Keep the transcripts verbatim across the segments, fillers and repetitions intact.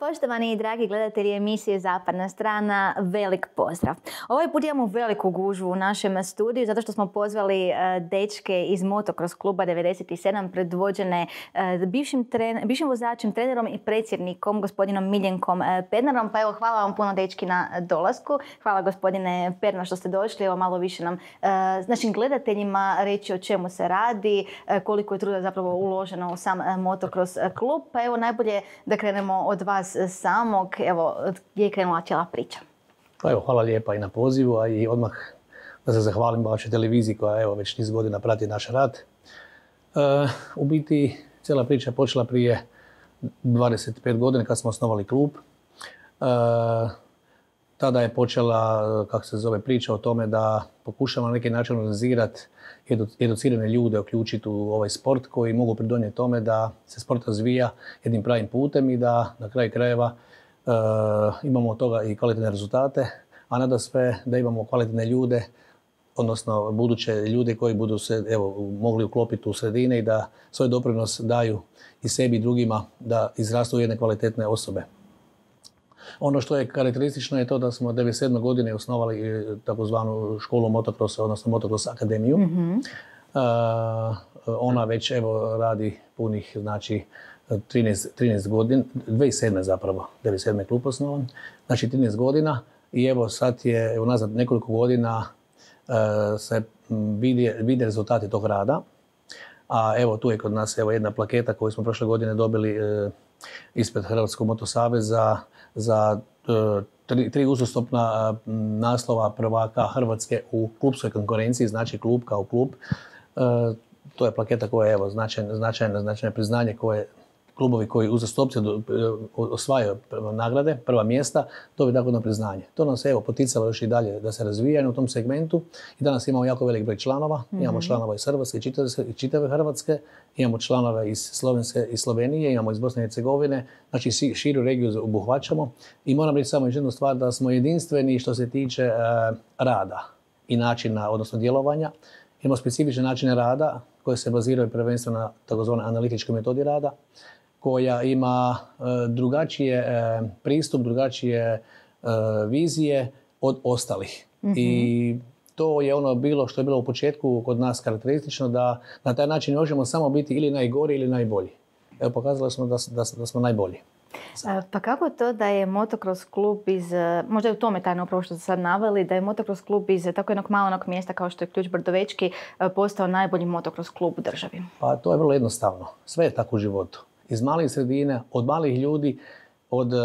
Poštovani i dragi gledatelji emisije Zapadna strana, velik pozdrav. Ovaj put imamo veliku gužvu u našem studiju zato što smo pozvali dečke iz Motocross kluba devedeset sedam predvođene bivšim, tren, bivšim vozačem, trenerom i predsjednikom gospodinom Miljenkom Pernarom. Pa evo, hvala vam puno dečki na dolasku. Hvala gospodine Pernar što ste došli. Evo malo više nam našim gledateljima reći o čemu se radi, koliko je truda zapravo uloženo u sam Motocross klub. Pa evo najbolje da krenemo od vas samog, evo, gdje je krenula cijela priča? Pa evo, hvala lijepa i na pozivu, a i odmah da se zahvalim vašoj televiziji koja evo već niz godina prati naš rad. E, u biti, cijela priča je počela prije dvadeset pet godina kad smo osnovali klub. E, tada je počela, kako se zove, priča o tome da pokušamo na neki način organizirati edu, educirane ljude, uključiti u ovaj sport koji mogu pridonijeti tome da se sport razvija jednim pravim putem i da na kraju krajeva e, imamo od toga i kvalitetne rezultate, a nada sve da imamo kvalitetne ljude, odnosno buduće ljude koji budu se evo, mogli uklopiti u sredine i da svoj doprinos daju i sebi i drugima da izrastu jedne kvalitetne osobe. Ono što je karakteristično je to da smo devedeset sedme godine osnovali takozvanu školu motocrossa, odnosno Motocross akademiju. Mm-hmm. uh, ona već evo radi punih, znači trinaest, trinaest godina, dvije tisuće sedme zapravo, devedeset sedme klub osnovan, znači trinaest godina i evo sad je evo, nazad nekoliko godina uh, se vidi, vide rezultati tog rada. A evo tu je kod nas evo, jedna plaketa koju smo prošle godine dobili uh, ispred Hrvatskog motosaveza za uh, tri, tri uzastopna uh, naslova prvaka Hrvatske u klubskoj konkurenciji, znači klub kao klub. Uh, to je plaketa koja je evo, značajno, značajno, značajno priznanje koje klubovi koji uzastopce osvajaju nagrade, prva mjesta, to bi tako na priznanje. To nas je evo, poticalo još i dalje da se razvijaju u tom segmentu i danas imamo jako velik broj članova. Mm-hmm. Imamo članova iz Hrvatske i čitave Hrvatske, imamo članove iz Slovenske i Slovenije, imamo iz Bosne i Hercegovine, znači širu regiju obuhvaćamo i moram reći samo jednu stvar da smo jedinstveni što se tiče e, rada i načina, odnosno djelovanja. Imamo specifične načine rada koje se baziraju prvenstveno na takozvanoj analitičkoj metodi rada, koja ima e, drugačije e, pristup, drugačije e, vizije od ostalih. Mm-hmm. I to je ono bilo što je bilo u početku kod nas karakteristično, da na taj način možemo samo biti ili najgori ili najbolji. Evo, pokazali smo da, da, da smo najbolji. A, pa kako to da je Motocross klub iz, možda je u tome tajno upravo što ste sad naveli, da je Motocross klub iz tako jednog malenog mjesta kao što je Ključ Brdovečki postao najbolji Motocross klub u državi? Pa to je vrlo jednostavno. Sve je tako u životu. Iz malih sredina, od malih ljudi, od uh,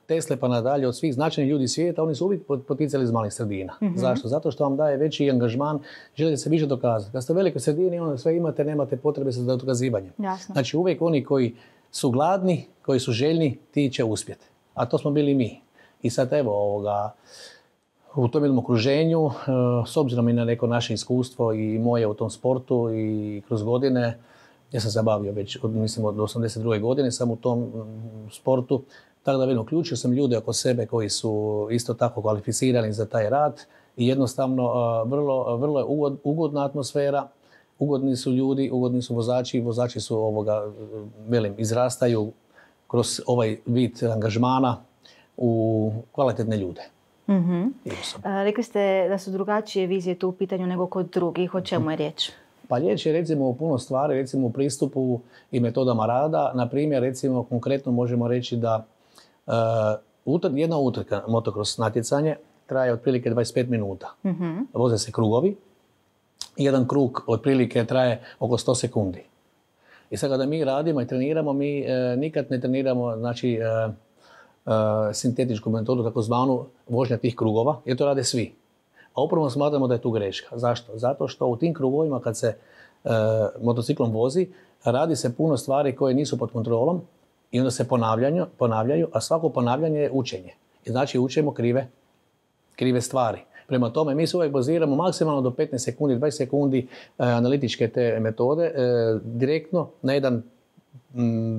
Tesle pa nadalje, od svih značajnih ljudi svijeta, oni su uvijek poticali iz malih sredina. Mm-hmm. Zašto? Zato što vam daje veći angažman, želite se više dokazati. Kad ste u velikoj sredini, onda sve imate, nemate potrebe za dokazivanjem. Jasno. Znači uvijek oni koji su gladni, koji su željni, ti će uspjeti. A to smo bili mi. I sad evo ovoga, u tom jednom okruženju, uh, s obzirom i na neko naše iskustvo i moje u tom sportu i kroz godine, ja sam se bavio već od, mislim, od osamdeset druge godine sam u tom mm, sportu. Tako da vidim, uključio sam ljude oko sebe koji su isto tako kvalificirani za taj rad i jednostavno uh, vrlo, vrlo je ugod, ugodna atmosfera, ugodni su ljudi, ugodni su vozači, vozači su ovoga, velim, izrastaju kroz ovaj vid angažmana u kvalitetne ljude. Mm-hmm. A, rekli ste da su drugačije vizije tu u pitanju nego kod drugih, o čemu je riječ? Pa riječ je recimo o puno stvari, recimo u pristupu i metodama rada. Na primjer, recimo konkretno možemo reći da uh, utr- jedna utrka motocross natjecanje traje otprilike dvadeset pet minuta. Mm-hmm. Voze se krugovi. Jedan krug otprilike traje oko sto sekundi. I sad kada mi radimo i treniramo, mi uh, nikad ne treniramo znači, uh, uh, sintetičku metodu, takozvanu vožnja tih krugova, jer to rade svi. A upravo smatramo da je tu greška. Zašto? Zato što u tim krugovima kad se e, motociklom vozi, radi se puno stvari koje nisu pod kontrolom i onda se ponavljaju, ponavljaju, a svako ponavljanje je učenje. I znači učimo krive, krive stvari. Prema tome, mi se uvijek baziramo maksimalno do petnaest sekundi, dvadeset sekundi e, analitičke te metode, e, direktno na jedan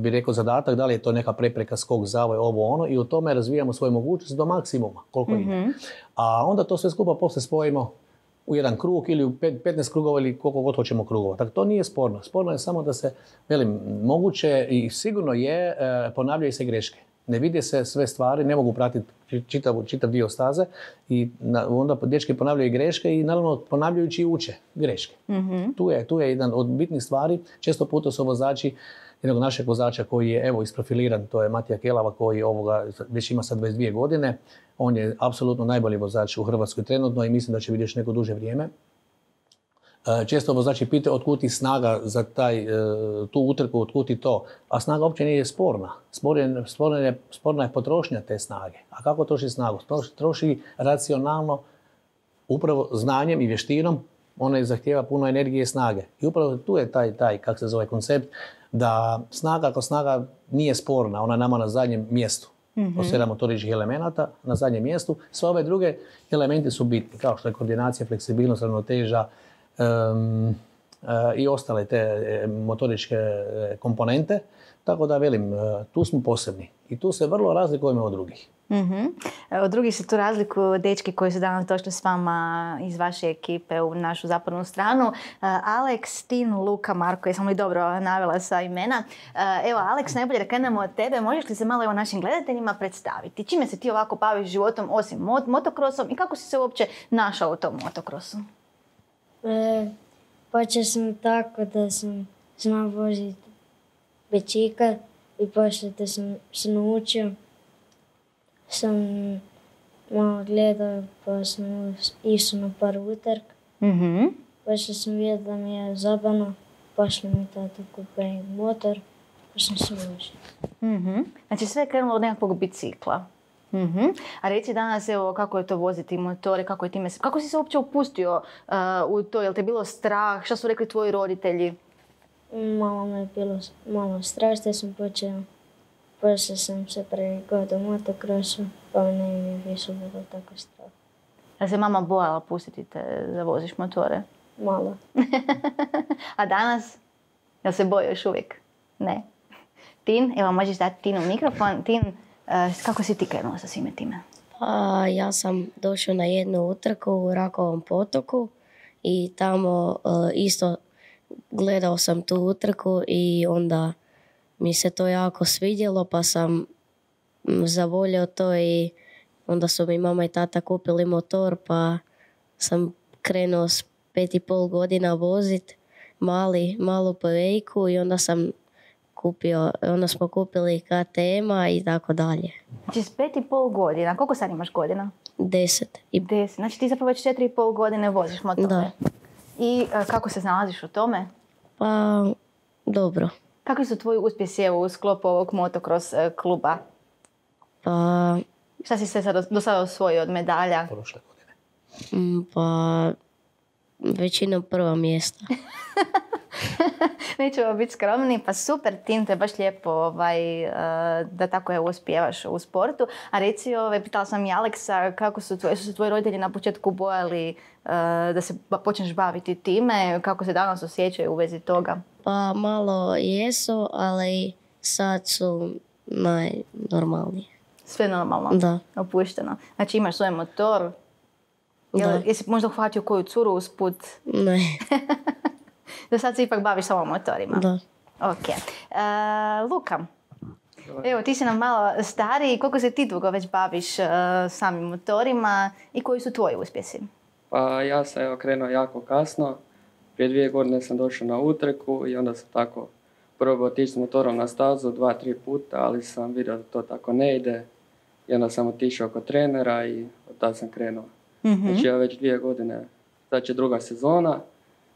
bi rekao zadatak, da li je to neka prepreka, skok, zavoj, ovo ono i u tome razvijamo svoje mogućnosti do maksimuma koliko mm-hmm. ide. A onda to sve skupa poslije spojimo u jedan krug ili u petnaest krugova ili koliko god hoćemo krugova. Tako to nije sporno. Sporno je samo da se, velim, moguće i sigurno je, ponavljaju se greške. Ne vide se sve stvari, ne mogu pratiti čitav, čitav dio staze i na, onda dečki ponavljaju greške i naravno ponavljajući uče greške. Mm-hmm. Tu je, tu je jedan od bitnih stvari. Često puta su vozači jednog našeg vozača koji je evo isprofiliran, to je Matija Kelava koji ovoga već ima sad dvadeset dvije godine. On je apsolutno najbolji vozač u Hrvatskoj trenutno i mislim da će biti još neko duže vrijeme. Često vozači pitaju otkud ti snaga za taj, tu utrku, otkud ti to, a snaga uopće nije sporna. Sporna, sporna, je, sporna je potrošnja te snage. A kako troši snagu? Troši racionalno, upravo znanjem i vještinom, ona zahtijeva puno energije i snage. I upravo tu je taj, taj kako se zove koncept, da snaga ako snaga nije sporna, ona je nama na zadnjem mjestu. Mm-hmm. Od sedam motoričkih elemenata na zadnjem mjestu. Sve ove druge elementi su bitni, kao što je koordinacija, fleksibilnost, ravnoteža, Um, uh, i ostale te uh, motoričke uh, komponente. Tako da velim, uh, tu smo posebni i tu se vrlo razlikujemo od drugih. Mm-hmm. Od drugih se tu razlikuju dečki koji su danas došli s vama iz vaše ekipe u našu zapadnu stranu. Uh, Alex, Tin, Luka, Marko, jesam li dobro navela sva imena? Uh, evo, Alex, najbolje da krenemo od tebe. Možeš li se malo evo našim gledateljima predstaviti? Čime se ti ovako baviš životom osim mot- motokrosom i kako si se uopće našao u tom motokrosu? E, počeo sam tako da sam znao voziti bicikl i poslije da sam se naučio, sam malo gledao pa sam išao na par utrk. Mm-hmm. Poslije sam vidio da mi je zabavno, poslije mi tata kupio motor pa sam se vozio. Mm-hmm. Znači sve je krenulo od nekakvog bicikla. Mm-hmm. A reci danas evo, kako je to voziti motore, kako je time, kako si se uopće upustio uh, u to, jel te bilo strah, šta su rekli tvoji roditelji? Malo me je bilo malo strah, što sam počeo, poslije sam se prigodao u motokrosu, pa ne mi više bilo tako strah. Da se mama bojala pustiti te da voziš motore? Malo. A danas, jel se boji još uvijek? Ne. Tin, evo možeš dati Tinu mikrofon. Tin, kako si ti krenuo sa svime time? Pa, ja sam došao na jednu utrku u Rakovom potoku i tamo uh, isto gledao sam tu utrku i onda mi se to jako svidjelo pa sam zavolio to i onda su mi mama i tata kupili motor pa sam krenuo s pet i pol godina vozit mali, malu povejku i onda sam kupio, onda smo kupili K T M-a i tako dalje. Znači s pet i pol godina, koliko sad imaš godina? Deset. I... Deset, znači ti zapravo već četiri i pol godine voziš motore. Da. I uh, kako se znalaziš u tome? Pa, dobro. Kakvi su tvoji uspjesi u sklopu ovog motocross uh, kluba? Pa... Šta si sve sad, do sada osvojio od medalja? Prošle godine. Mm, pa, većinom prva mjesta. Nećemo biti skromni, pa super, Tin, to je baš lijepo ovaj, uh, da tako je uspijevaš u sportu. A reci, ovaj, pitala sam i Aleksa, kako su, tvoji, su se tvoji roditelji na početku bojali uh, da se počneš baviti time, kako se danas osjećaju u vezi toga? Pa malo jesu, ali sad su najnormalniji. Sve normalno? Da. Opušteno. Znači imaš svoj motor? Jel, jesi možda uhvatio koju curu usput? Ne. Da sad se ipak baviš samo motorima? Da. Ok. Uh, Luka, evo ti si nam malo stariji. Koliko se ti dugo već baviš uh, samim motorima i koji su tvoji uspjesi? Pa ja sam evo krenuo jako kasno. Prije dvije godine sam došao na utrku i onda sam tako probao otići s motorom na stazu dva, tri puta, ali sam vidio da to tako ne ide. I onda sam otišao kod trenera i od tada sam krenuo. Mm-hmm. Znači ja već dvije godine, sad će druga sezona.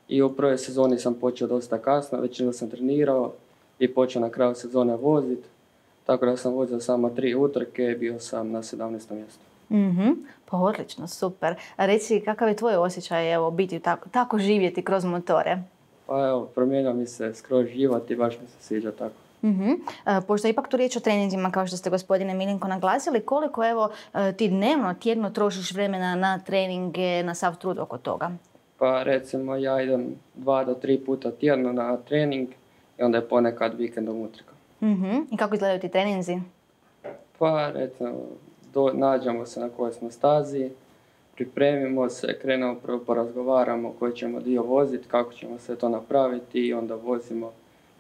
I u prvoj sezoni sam počeo dosta kasno, većinu sam trenirao i počeo na kraju sezone voziti. Tako da sam vozio samo tri utrke i bio sam na sedamnaestom mjestu. Mm-hmm. Pa odlično, super. A reci, kakav je tvoj osjećaj evo, biti tako, tako živjeti kroz motore? Pa evo, promijenio mi se skroz život i baš mi se sviđa tako. Mm-hmm. E, pošto je ipak tu riječ o treninzima, kao što ste gospodine Milinko naglasili, koliko evo ti dnevno, tjedno trošiš vremena na treninge, na sav trud oko toga? Pa recimo ja idem dva do tri puta tjedno na trening i onda je ponekad vikendom utrka. Mm-hmm. I kako izgledaju ti treninzi? Pa recimo do, nađemo se na kojoj smo stazi, pripremimo se, krenemo prvo porazgovaramo koji ćemo dio voziti, kako ćemo sve to napraviti i onda vozimo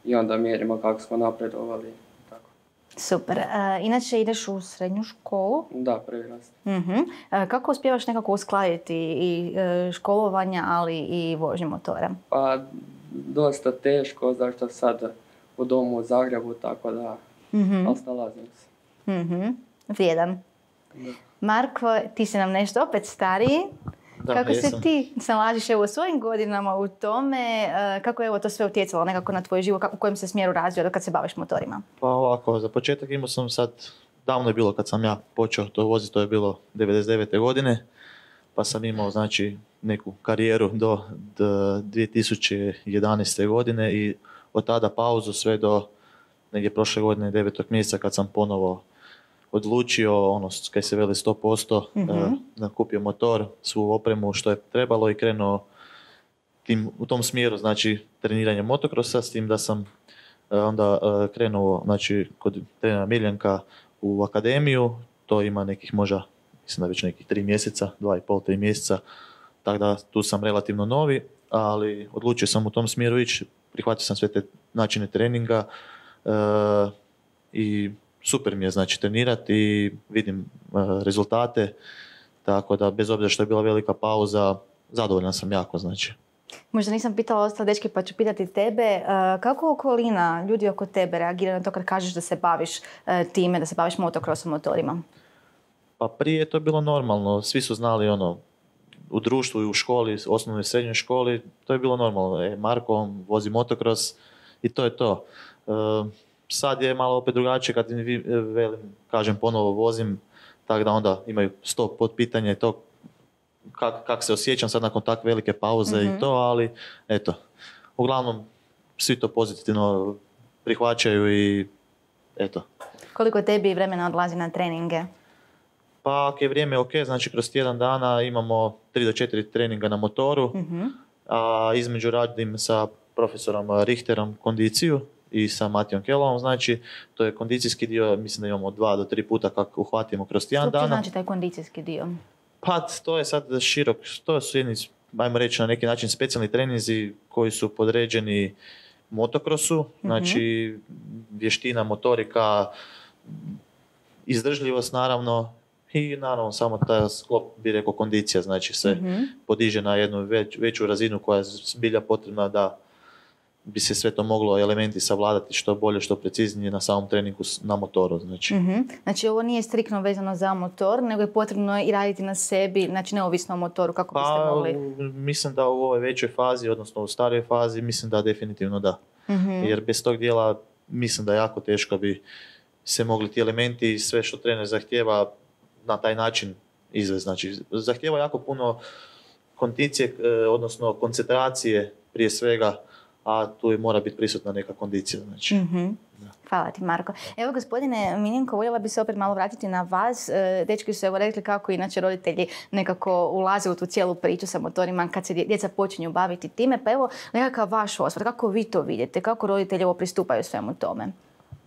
i onda mjerimo kako smo napredovali. Tako. Super. E, inače ideš u srednju školu. Da, prvi rast. Uh-huh. E, kako uspijevaš nekako uskladiti i e, školovanja, ali i vožnju motora? Pa dosta teško, zašto sad u domu u Zagrebu, tako da, Uh-huh. ali snalazim se. Uh-huh. Vrijedan. Da. Marko, ti si nam nešto opet stariji. Da, Kako jesam. se ti snalaziš evo u svojim godinama u tome? E, kako je evo to sve utjecalo nekako na tvoj život? U kojem se smjeru razvio do kad se baviš motorima? Pa ovako, za početak imao sam sad, davno je bilo kad sam ja počeo to voziti, to je bilo devedeset devete godine, pa sam imao znači neku karijeru do, do dvije tisuće jedanaeste godine i od tada pauzu sve do negdje prošle godine devetog mjeseca kad sam ponovo odlučio, ono, kaj se veli sto posto, Mhm. uh, nakupio motor, svu opremu što je trebalo i krenuo tim, u tom smjeru, znači treniranje motokrosa, s tim da sam uh, onda uh, krenuo, znači, kod trenera Miljenka u akademiju, to ima nekih možda, mislim da već nekih tri mjeseca, dva i pol, tri mjeseca, tako da tu sam relativno novi, ali odlučio sam u tom smjeru ići, prihvatio sam sve te načine treninga uh, i super mi je znači trenirati i vidim uh, rezultate, tako da bez obzira što je bila velika pauza, zadovoljan sam jako znači. Možda nisam pitala ostale dečke pa ću pitati tebe. E, kako okolina, ljudi oko tebe reagira na to kad kažeš da se baviš e, time, da se baviš motokrosom motorima? Pa prije je to bilo normalno, svi su znali ono, u društvu i u školi, osnovnoj i srednjoj školi, to je bilo normalno. E, Marko on vozi motokros i to je to. E, sad je malo opet drugačije kad im vi, velim, kažem ponovo vozim, tako da onda imaju sto potpitanja i to kak, kak se osjećam sad nakon takve velike pauze Mhm. i to, ali eto, uglavnom svi to pozitivno prihvaćaju i eto. Koliko tebi vremena odlazi na treninge? Pa ako je vrijeme ok, znači kroz tjedan dana imamo tri do četiri treninga na motoru, Mhm. a između radim sa profesorom Richterom kondiciju i sa Matijom Kelovom, znači to je kondicijski dio, mislim da imamo dva do tri puta kako uhvatimo kroz Što tjedan uopće dana. znači taj kondicijski dio? Pa to je sad širok, to su jedni, ajmo reći na neki način specijalni treninzi koji su podređeni motokrosu, znači vještina, motorika, izdržljivost naravno i naravno samo taj sklop bi rekao kondicija, znači se Mhm. podiže na jednu već, veću razinu koja je zbilja potrebna da bi se sve to moglo elementi savladati što bolje, što preciznije na samom treningu s- na motoru. Znači. Mhm. Znači ovo nije striktno vezano za motor, nego je potrebno i raditi na sebi, znači neovisno o motoru, kako biste Pa mogli... u- mislim da u ovoj većoj fazi, odnosno u starijoj fazi, mislim da definitivno da. Mhm. Jer bez tog dijela mislim da jako teško bi se mogli ti elementi i sve što trener zahtjeva na taj način izvesti. Znači, zahtjeva jako puno kondicije, eh, odnosno koncentracije prije svega, a tu i mora biti prisutna neka kondicija. Znači. Mhm. Hvala ti, Marko. Evo, gospodine Miljenko, voljela bi se opet malo vratiti na vas. E, Dečki su evo rekli kako inače roditelji nekako ulaze u tu cijelu priču sa motorima kad se dje- djeca počinju baviti time. Pa evo, nekakav vaš osvrt, kako vi to vidite? Kako roditelji ovo pristupaju svemu tome?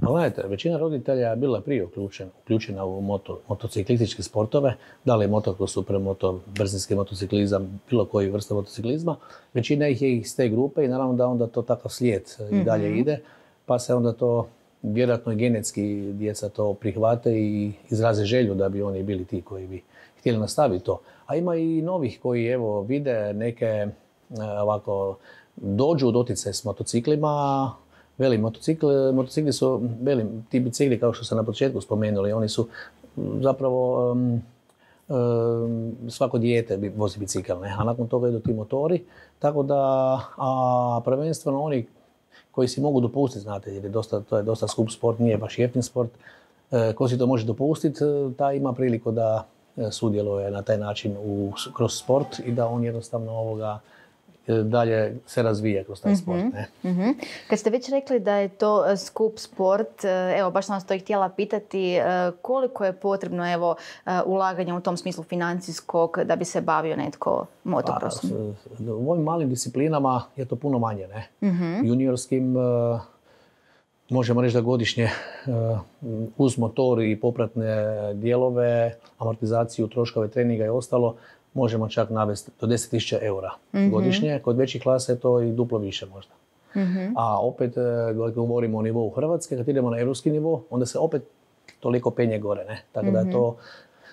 Pa gledajte, većina roditelja je bila prije uključena, uključena u moto, motociklističke sportove, da li je motocross, supermoto, brzinski motociklizam, bilo koji vrsta motociklizma. Većina ih je iz te grupe i naravno da onda to takav slijed i dalje ide, pa se onda to vjerojatno i genetski djeca to prihvate i izraze želju da bi oni bili ti koji bi htjeli nastaviti to. A ima i novih koji evo vide neke e, ovako dođu u doticaj s motociklima. Veli, motocikl, motocikli su, veli, ti bicikli kao što sam na početku spomenuli, oni su m, zapravo um, um, svako dijete bi- vozi bicikl, ne? A nakon toga idu ti motori, tako da, a prvenstveno oni koji si mogu dopustiti, znate, jer je dosta, to je dosta skup sport, nije baš jeftin sport, e, ko si to može dopustiti, e, taj ima priliku da e, sudjeluje na taj način u, kroz sport i da on jednostavno ovoga e, dalje se razvija kroz taj sport. Ne? Mhm. Kad ste već rekli da je to e, skup sport, e, evo baš sam vas to i htjela pitati, e, koliko je potrebno evo e, ulaganja u tom smislu financijskog da bi se bavio netko motocrossom? Pa, s- u ovim malim disciplinama je to puno manje, ne? Mhm. Juniorskim e, možemo reći da godišnje e, uz motor i popratne dijelove, amortizaciju, troškove treninga i ostalo, možemo čak navesti do deset tisuća eura godišnje. Kod većih klasa je to i duplo više možda. Mhm. A opet, e, kad govorimo o nivou Hrvatske, kad idemo na europski nivo, onda se opet toliko penje gore, ne? Tako da je to,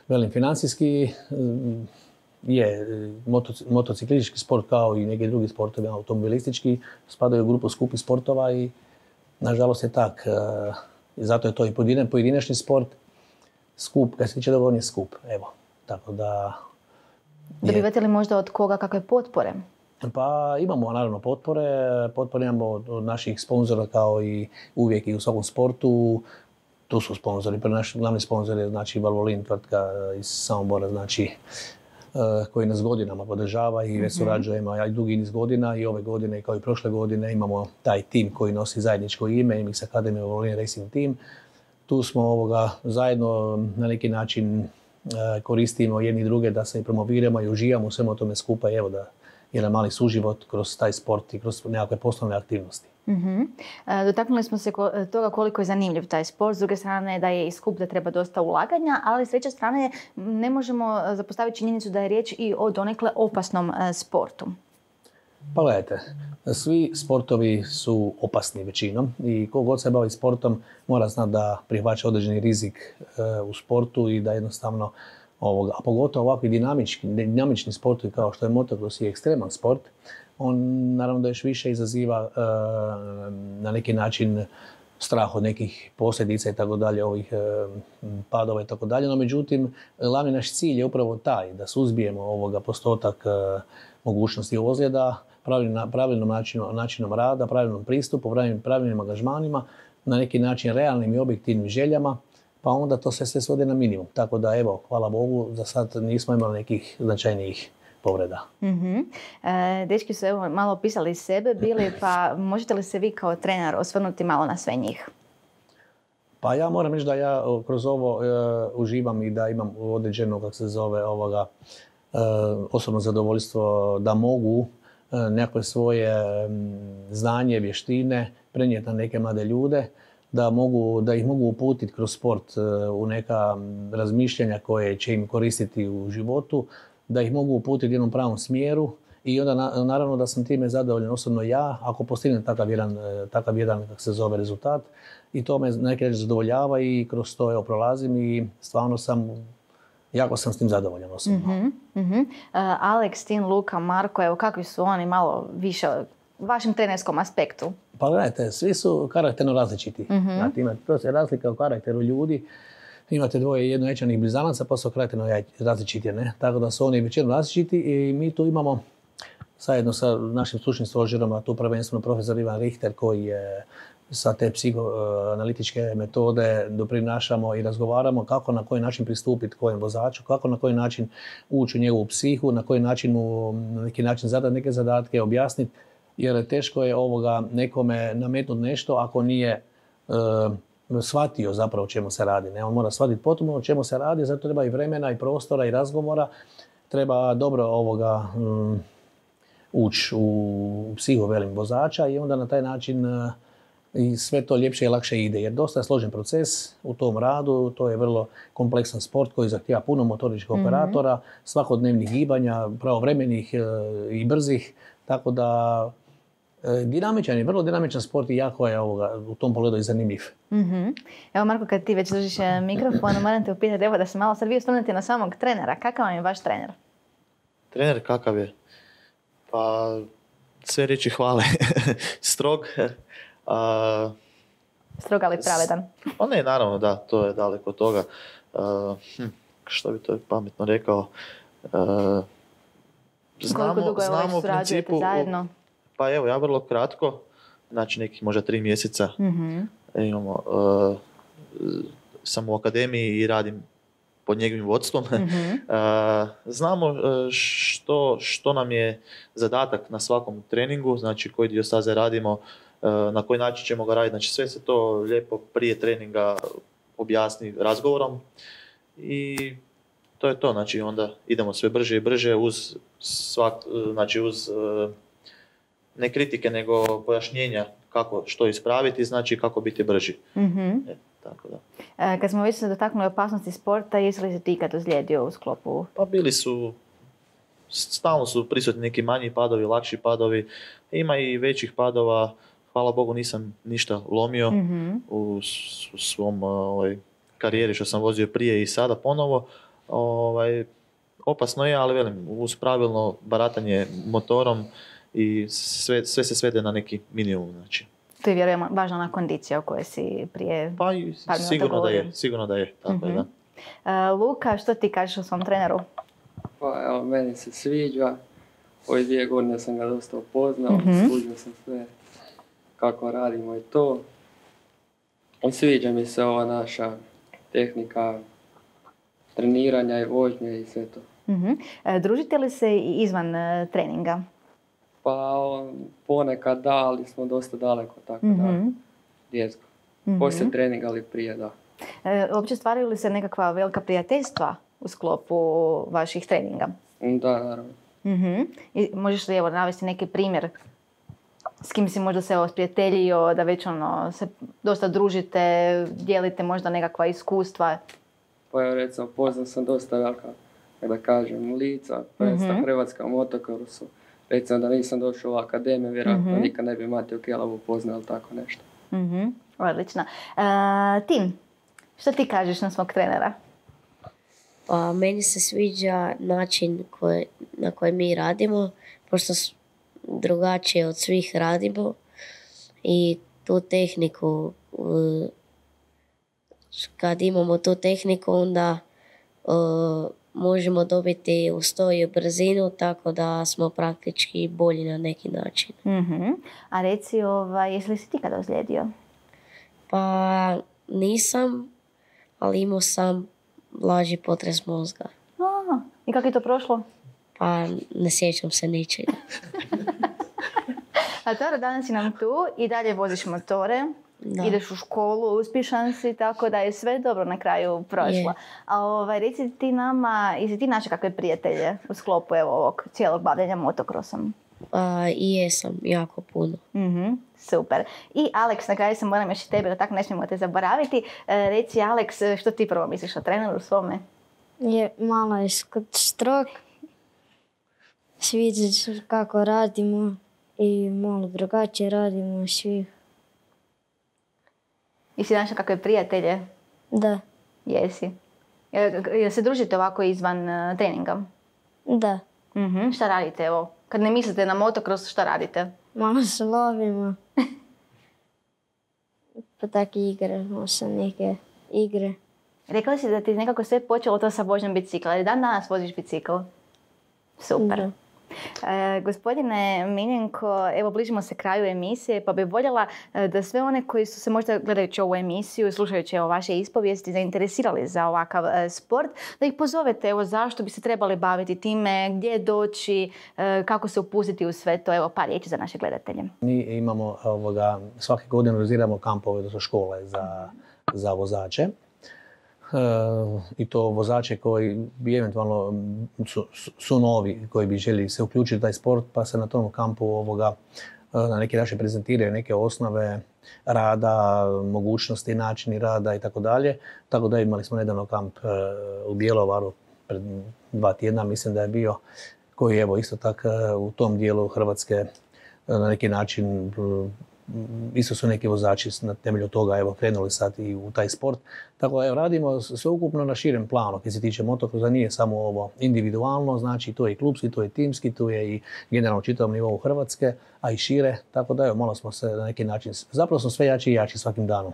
velim, financijski mm, je moto, motociklistički sport kao i neki drugi sportovi, automobilistički, spadaju u grupu skupih sportova i nažalost je tak. E, zato je to i pojedina, pojedinačni sport, skup, kad se tiče toga on je skup, evo. Tako da... Je. Dobivate li možda od koga kakve potpore? Pa imamo naravno potpore, potpore imamo od naših sponzora kao i uvijek i u svakom sportu. Tu su sponzori, prvi naš glavni sponzor je znači Valvoline, tvrtka iz Samobora, znači koji nas godinama podržava i već surađujemo ja dugi niz godina i ove godine kao i prošle godine imamo taj tim koji nosi zajedničko ime, M X Academy Valvoline Racing Team. Tu smo ovoga zajedno na neki način koristimo jedni druge da se promoviramo i uživamo u svemu tome skupa i evo da jedan mali suživot kroz taj sport i kroz nekakve poslovne aktivnosti. Uh-huh. Dotaknuli smo se toga koliko je zanimljiv taj sport, s druge strane da je i skup, da treba dosta ulaganja, ali s treće strane ne možemo zapostaviti činjenicu da je riječ i o donekle opasnom sportu. Pa gledajte, svi sportovi su opasni većinom i ko god se bavi sportom mora znati da prihvaća određeni rizik u sportu i da jednostavno ovoga, a pogotovo ovakvi dinamični, dinamični sportovi kao što je motocross i ekstreman sport, on naravno da još više izaziva e, na neki način strah od nekih posljedica i tako dalje, ovih e, padova i tako dalje, no međutim glavni naš cilj je upravo taj da suzbijemo ovoga postotak e, mogućnosti ozljeda, pravilnom, pravilnom načinom, načinom rada, pravilnom pristupu, pravilnim, pravilnim angažmanima, na neki način realnim i objektivnim željama, pa onda to sve se svode na minimum. Tako da evo, hvala Bogu, za sad nismo imali nekih značajnijih povreda. Mm-hmm. E, dečki su evo malo opisali sebe bili, pa možete li se vi kao trener osvrnuti malo na sve njih? Pa ja moram reći da ja kroz ovo e, uživam i da imam određeno, kako se zove, ovoga, e, osobno zadovoljstvo da mogu e, nekakve svoje m, znanje, vještine prenijeti na neke mlade ljude, da, mogu, da ih mogu uputiti kroz sport e, u neka razmišljanja koje će im koristiti u životu, da ih mogu uputiti u jednom pravom smjeru i onda na, naravno da sam time zadovoljan osobno ja ako postignem takav jedan, takav jedan kako se zove, rezultat i to me na neki način zadovoljava i kroz to evo prolazim i stvarno sam, jako sam s tim zadovoljan osobno. Mm-hmm, mm-hmm. Uh, Alex, Tin, Luka, Marko, evo kakvi su oni malo više u vašem trenerskom aspektu? Pa gledajte, svi su karakterno različiti. Mm-hmm. Znate, ima to se razlika u karakteru ljudi. Imate dvoje jednoječanih blizanaca, pa su karakterno različiti, ne? Tako da su oni većinom različiti i mi tu imamo zajedno sa našim stručnim stožerom, a tu prvenstveno profesor Ivan Richter koji je sa te psihoanalitičke metode doprinašamo i razgovaramo kako na koji način pristupiti kojem vozaču, kako na koji način ući u njegovu psihu, na koji način mu na neki način zadati neke zadatke, objasniti, jer teško je ovoga nekome nametnuti nešto ako nije e, shvatio zapravo o čemu se radi. Ne? On mora shvatiti potpuno o čemu se radi, zato treba i vremena i prostora i razgovora, treba dobro ovoga um, ući u psihu velim vozača i onda na taj način uh, i sve to ljepše i lakše ide. Jer dosta je složen proces u tom radu, to je vrlo kompleksan sport koji zahtijeva puno motoričkih mm-hmm. operatora, svakodnevnih gibanja, pravovremenih uh, i brzih, tako da dinamičan je, vrlo dinamičan sport i jako je ovoga, u tom pogledu i zanimljiv. Mm-hmm. Evo Marko, kad ti već držiš mikrofon, moram te upitati, evo da se malo sad vi osvrnete na samog trenera. Kakav vam je vaš trener? Trener kakav je? Pa sve riječi hvale. Strog. A, Strog ali pravedan. Pa ne, naravno da, to je daleko od toga. A, hm, što bi to pametno rekao? A, znamo, Koliko dugo je znamo već surađujete zajedno? Pa evo, ja vrlo kratko, znači nekih možda tri mjeseca mm-hmm. imamo, uh, sam u akademiji i radim pod njegovim vodstvom. Mm-hmm. uh, znamo uh, što, što nam je zadatak na svakom treningu, znači koji dio staze radimo, uh, na koji način ćemo ga raditi, znači sve se to lijepo prije treninga objasni razgovorom i to je to, znači onda idemo sve brže i brže uz svak, znači uz uh, ne kritike, nego pojašnjenja kako što ispraviti, znači kako biti brži. Mm-hmm. E, tako da. E, kad smo već se dotaknuli opasnosti sporta, jesi li se ti ikad ozlijedio u sklopu? Pa bili su stalno su prisutni neki manji padovi, lakši padovi, ima i većih padova, hvala Bogu nisam ništa lomio mm-hmm. u, u svom ovaj, karijeri što sam vozio prije i sada ponovo. Ovaj, opasno je, ali velim, uz pravilno baratanje motorom i sve, sve se svede na neki minimum. Znači. To je vjerujem važna ona kondicija o kojoj si prije pa i sigurno da je, sigurno da je. Tako mm-hmm. je, da. Uh, Luka, što ti kažeš o svom treneru? Pa evo, meni se sviđa. Ove dvije godine sam ga dosta upoznao, mm-hmm. služio sam sve kako radimo i to. I sviđa mi se ova naša tehnika treniranja i vožnje i sve to. Mm-hmm. E, družite li se i izvan e, treninga? Pa ponekad da, ali smo dosta daleko, tako mm-hmm. da, djetsko. Mm-hmm. Poslije treninga, ali prije, da. E, uopće stvaraju li se nekakva velika prijateljstva u sklopu vaših treninga? Da, naravno. Mm-hmm. I možeš li evo navesti neki primjer s kim si možda se evo sprijateljio, da već ono se dosta družite, dijelite možda nekakva iskustva? Pa evo recimo, poznam sam dosta velika, da kažem, lica, prvenstva mm-hmm. Hrvatska u motokrosu. Recimo da nisam došao u akademiju, vjerojatno mm-hmm. nikad ne bi Matiju Kelavu upoznao ili tako nešto. Mm-hmm. Odlično. Uh, Tim, što ti kažeš na svog trenera? Pa meni se sviđa način koji, na koji mi radimo, pošto drugačije od svih radimo i tu tehniku, kad imamo tu tehniku onda uh, možemo dobiti ustoj i brzinu, tako da smo praktički bolji na neki način. Mm-hmm. A reci, ovaj, jesi li si ti kada ozlijedio? Pa nisam, ali imao sam blaži potres mozga. A, i kako je to prošlo? Pa ne sjećam se ničega. A dobro, danas si nam tu i dalje voziš motore. Da. Ideš u školu, uspješan si, tako da je sve dobro na kraju prošlo. A ovaj, reci ti nama, jesi ti naše kakve prijatelje u sklopu evo, ovog cijelog bavljenja motokrosom? A, I jesam, jako puno. Mm-hmm, super. I Alex, na kraju sam moram još i tebe, da tako ne smijemo te zaboraviti. E, reci Alex, što ti prvo misliš o treneru svome? Je malo je strog. Sviđa se kako radimo i malo drugačije radimo svih. Jesi našla kakve prijatelje? Da. Jesi. Jel se družite ovako izvan uh, treninga? Da. Mm-hmm. Šta radite evo? Kad ne mislite na motocross, šta radite? Malo se lovimo. Pa tako igramo sa neke igre. Rekla si da ti nekako sve počelo to sa vožnjom bicikla. Ali dan danas voziš bicikl? Super. Da. E, gospodine Miljenko, evo bližimo se kraju emisije, pa bih voljela da sve one koji su se možda gledajući ovu emisiju, slušajući evo vaše ispovijesti, zainteresirali za ovakav e, sport, da ih pozovete evo zašto bi se trebali baviti time, gdje doći, e, kako se upustiti u sve to, evo par riječi za naše gledatelje. Mi imamo ovoga, svake godine organiziramo kampove, odnosno škole za, za vozače. E, i to vozače koji bi eventualno su, su novi, koji bi želi se uključiti u taj sport, pa se na tom kampu ovoga, na neki način prezentiraju neke osnove rada, mogućnosti, načini rada i tako dalje. Tako da imali smo nedavno kamp u Bjelovaru pred dva tjedna, mislim da je bio, koji evo isto tako u tom dijelu Hrvatske na neki način isto su neki vozači na temelju toga evo krenuli sad i u taj sport. Tako da evo, radimo sveukupno na širem planu. Kad se tiče motokrosa nije samo ovo individualno, znači to je i klubski, to je i timski, to je i generalno čitavom nivou Hrvatske, a i šire. Tako da evo, malo smo se na neki način, zapravo smo sve jači i jači svakim danom.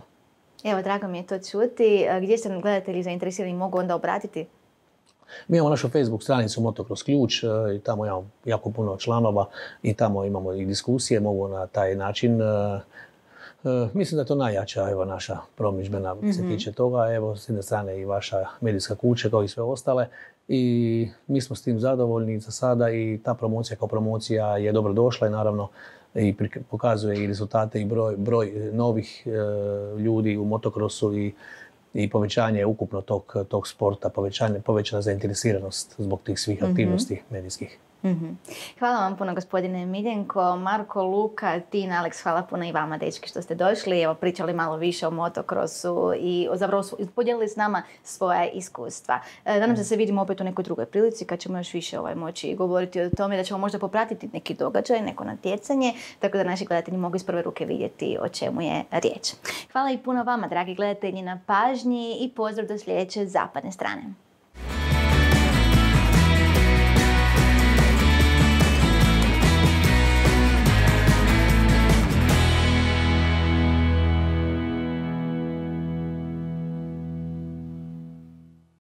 Evo, drago mi je to čuti. Gdje se gledatelji zainteresirani mogu onda obratiti? Mi imamo našu Facebook stranicu Motocross Ključ i tamo imamo jako puno članova i tamo imamo i diskusije, mogu na taj način. Mislim da je to najjača evo, naša promidžbena mm-hmm. se tiče toga. Evo, s jedne strane i vaša medijska kuća kao i sve ostale. I mi smo s tim zadovoljni za sada i ta promocija kao promocija je dobro došla i naravno i pokazuje i rezultate i broj, broj novih e, ljudi u motokrosu i i povećanje ukupno tog, tog sporta, povećanje, povećana zainteresiranost zbog tih svih aktivnosti mm-hmm. medijskih. Mm-hmm. Hvala vam puno gospodine Miljenko, Marko, Luka, Tina, Alex, hvala puno i vama dečki što ste došli, evo pričali malo više o motokrosu i zapravo podijelili s nama svoja iskustva. Nadam se da se vidimo opet u nekoj drugoj prilici kad ćemo još više ovaj, moći govoriti o tome, da ćemo možda popratiti neki događaj, neko natjecanje, tako da naši gledatelji mogu iz prve ruke vidjeti o čemu je riječ. Hvala i puno vama dragi gledatelji na pažnji i pozdrav do sljedeće zapadne strane.